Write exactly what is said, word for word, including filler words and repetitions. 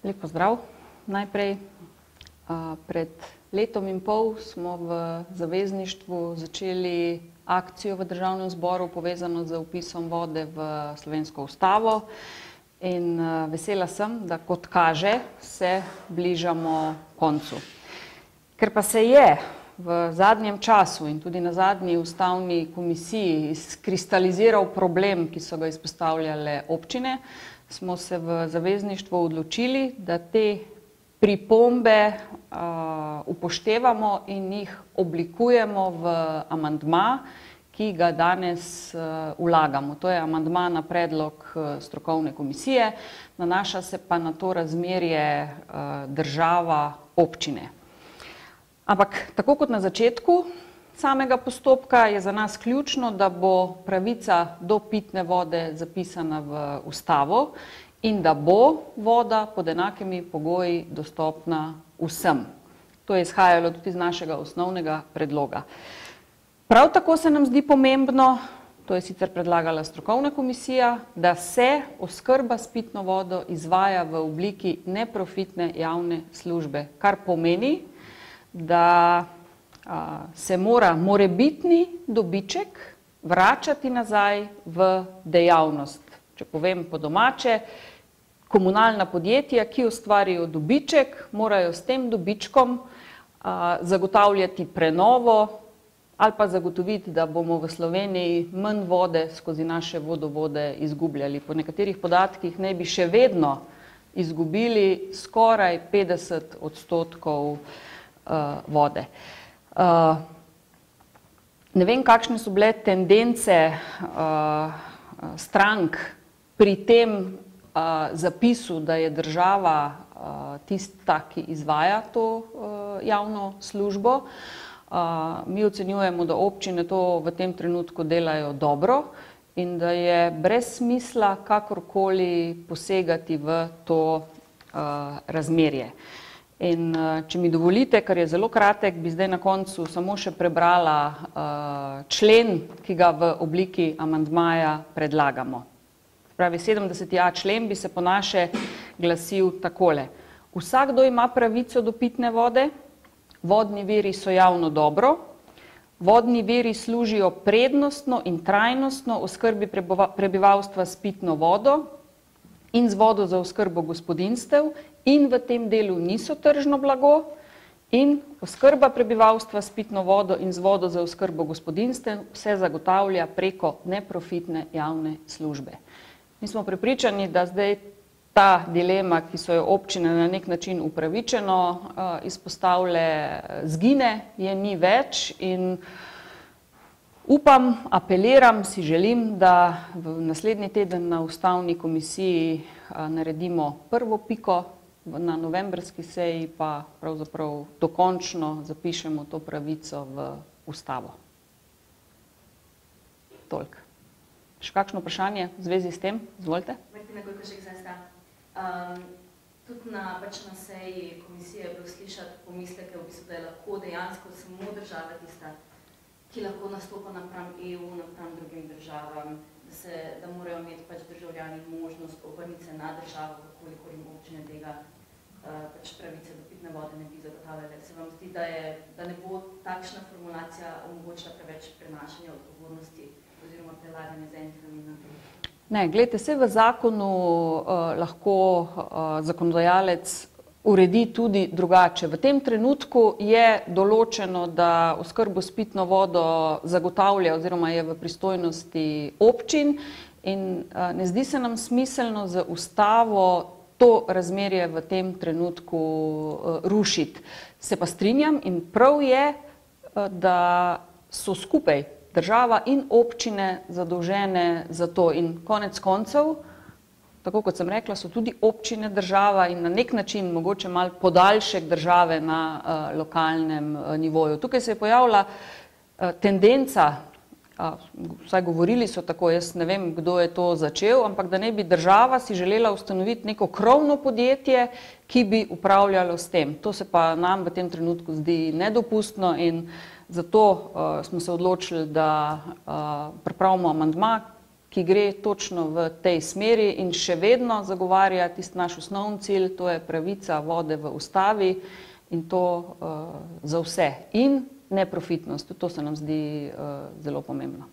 Lep pozdrav. Najprej, pred letom in pol smo v zavezništvu začeli akcijo v Državnem zboru povezano z vpisom vode v slovensko ustavo in vesela sem, da kot kaže, se bližamo koncu. Ker pa se je v zadnjem času in tudi na zadnji ustavni komisiji izkristaliziral problem, ki so ga izpostavljale občine, smo se v zavezništvu odločili, da te pripombe uh, upoštevamo in jih oblikujemo v amandma, ki ga danes uh, vlagamo. To je amandma na predlog uh, strokovne komisije, nanaša se pa na to razmerje uh, država-občine. Ampak tako kot na začetku samega postopka je za nas ključno, da bo pravica do pitne vode zapisana v ustavo in da bo voda pod enakimi pogoji dostopna vsem. To je izhajalo tudi iz našega osnovnega predloga. Prav tako se nam zdi pomembno, to je sicer predlagala strokovna komisija, da se oskrba s pitno vodo izvaja v obliki neprofitne javne službe, kar pomeni, da se mora morebitni dobiček vračati nazaj v dejavnost. Če povem po domače, komunalna podjetja, ki ustvarijo dobiček, morajo s tem dobičkom zagotavljati prenovo ali pa zagotoviti, da bomo v Sloveniji manj vode skozi naše vodovode izgubljali. Po nekaterih podatkih naj bi še vedno izgubili skoraj petdeset odstotkov vode. Uh, ne vem, kakšne so bile tendence uh, strank pri tem uh, zapisu, da je država uh, tista, ki izvaja to uh, javno službo. Uh, mi ocenjujemo, da občine to v tem trenutku delajo dobro in da je brez smisla kakorkoli posegati v to uh, razmerje. In če mi dovolite, ker je zelo kratek, bi zdaj na koncu samo še prebrala uh, člen, ki ga v obliki amandmaja predlagamo. Pravi, sedemdeseti a člen bi se po naše glasil takole. Vsakdo ima pravico do pitne vode, vodni viri so javno dobro, vodni viri služijo prednostno in trajnostno oskrbi prebivalstva s pitno vodo in z vodo za oskrbo gospodinjstev in v tem delu niso tržno blago in oskrba prebivalstva s pitno vodo in z vodo za oskrbo gospodinjstev se zagotavlja preko neprofitne javne službe. Mi smo prepričani, da zdaj ta dilema, ki so jo občine na nek način upravičeno izpostavile, zgine, je ni več in upam, apeliram, si želim, da v naslednji teden na ustavni komisiji naredimo prvo piko, na novembrski seji pa pravzaprav dokončno zapišemo to pravico v ustavo. Toliko. Še kakšno vprašanje v zvezi s tem? Izvolite. Martina Gojkošek z S D A. Um, tudi na, pač na seji komisije je bilo slišati pomisleke, v bistvu, da je lahko dejansko samo država tista, ki lahko nastopa napram E U, napram drugim državam, da, se, da morajo imeti pač državljani možnost obrniti se na državo, koliko jim občine tega uh, pač pravice do pitne vode ne bi zagotavljale. Se vam zdi, da, je, da ne bo takšna formulacija omogočila preveč prenašanja odgovornosti oziroma prelaganja z enih namen na drugih? Ne, gledajte, se v zakonu uh, lahko uh, zakonodajalec uredi tudi drugače. V tem trenutku je določeno, da oskrbo s pitno vodo zagotavlja oziroma je v pristojnosti občin in uh, ne zdi se nam smiselno z ustavo to razmerje v tem trenutku uh, rušiti. Se pa strinjam in prav je, uh, da so skupaj država in občine zadolžene za to in konec koncev, tako kot sem rekla, so tudi občine država in na nek način mogoče malo podaljšek države na uh, lokalnem uh, nivoju. Tukaj se je pojavila uh, tendenca, uh, vsaj govorili so tako, jaz ne vem, kdo je to začel, ampak da ne bi država si želela ustanoviti neko krovno podjetje, ki bi upravljalo s tem. To se pa nam v tem trenutku zdi nedopustno in zato uh, smo se odločili, da uh, pripravimo amandma, ki gre točno v tej smeri in še vedno zagovarja tisti naš osnovni cilj, to je pravica vode v ustavi in to uh, za vse. In neprofitnost, to se nam zdi uh, zelo pomembno.